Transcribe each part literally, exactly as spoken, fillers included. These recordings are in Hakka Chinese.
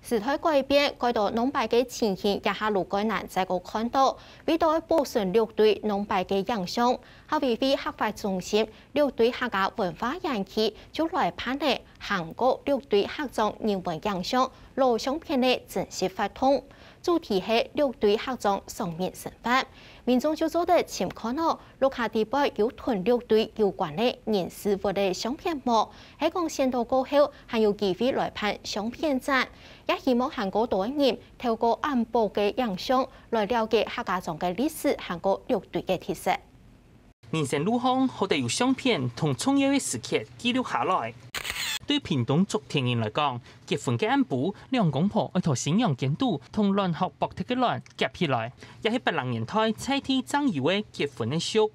時代改變，蓋多農擺个情形這下就蓋難再過看著。為著愛保存六堆農擺个影像，客委會客發中心六堆客家文化園區就來辦理 行過六堆客庄人文影像老相片个正式活動，主題係六堆客庄常民生活。民眾就做得尋看著，屋下底背有同六堆有關个人事物个相片無？係講選著過後，還有機會來辦相片展，也希望還過多人透過恁寶个影像來了解客家庄个歷史，還過六堆个特色。 人生路項，好得有相片同重要个時刻記錄下來。對屏東竹田人來講，結婚个暗晡，兩公婆愛在新娘間肚同卵殼剝忒个卵夾起來，也係八零年代在地正有个結婚个俗。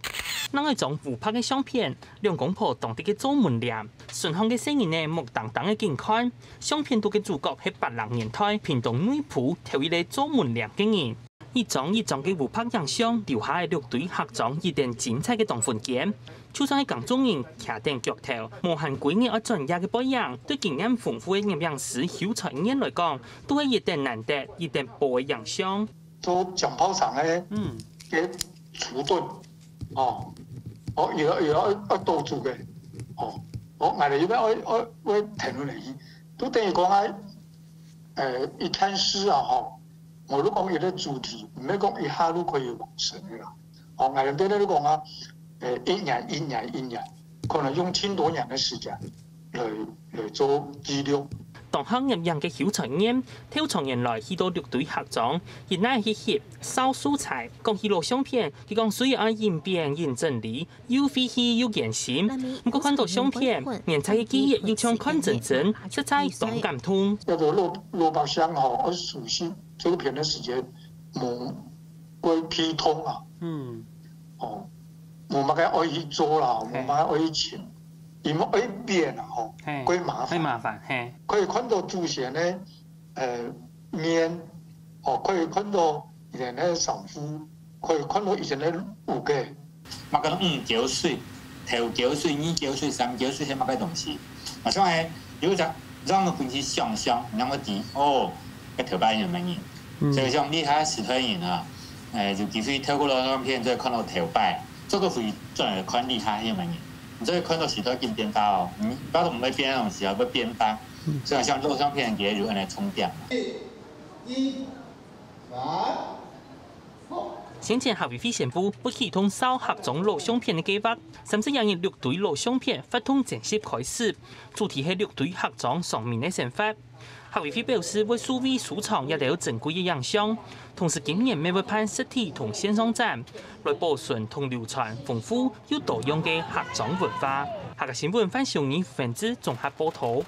另外一張烏白个相片，兩公婆當在該做門簾，脣項个細人仔目盯盯个緊看。相片肚个主角係八零年代屏東內埔頭一個做門簾个人。 一張一張个烏白影像留下个六堆客庄一等精彩个當分間。就算係耕種人徛等腳頭，無閒歸日愛轉夜个背影，對經驗豐富个攝影師邱才燕來講，都係一等難得、一等寶个影像。做醬爆腸个，嗯，个廚師，哦，哦，有有愛愛多煮个，哦，哦，𠊎等一般愛愛愛停落來，都等於講啊，呃，一看書啊，吼， 𠊎就講一個主題，毋係講一下就可以完成个啦。哦，𠊎等在這講啊，誒，一年、一年、一年，可能用盡多年个時間來來做記錄。當行攝影个邱才燕，頭長年來去到六堆客庄，一來去翕、掃素材，講起老相片，佢講雖然愛緊變緊整理， 又費氣又艱辛，毋過看著相片，原在个記憶又像看真真，實在當感動。該個老老百姓吼，愛熟悉這個片个時間，無過普通啊。嗯。哦，無麼个愛去做啦，無麼个愛去尋，因為愛變啊吼，過麻煩。過麻煩，嘿。可以看著祖先个 呃，面，哦，可以看著以前个衫褲，可以看著以前个屋个。麼个五溝水，頭溝水、二溝水、三溝水係麼个東西？啊，像係有一隻讓我分去想像，讓我知，哦，該頭擺有麼人。所以像這下時代人啊，誒，有機會透過老相片，就會看著頭擺，做個回轉來看這下有麼人，你就會看著時代緊變化哦。嗯，不過毋會變个東西啊，會變化。 所以像老相片佢有恁呢重點。先前客委會宣布，會啟動掃客庄老相片个計畫，三十一日六堆老相片活動正式開始，主題係六堆客庄常民个生活。客委會表示會數位收藏這兜珍貴个影像，同時今年乜會辦實體同線上展，來保存同流傳豐富又多樣个客庄文化。客家新聞范秀儀、范志綜合報導。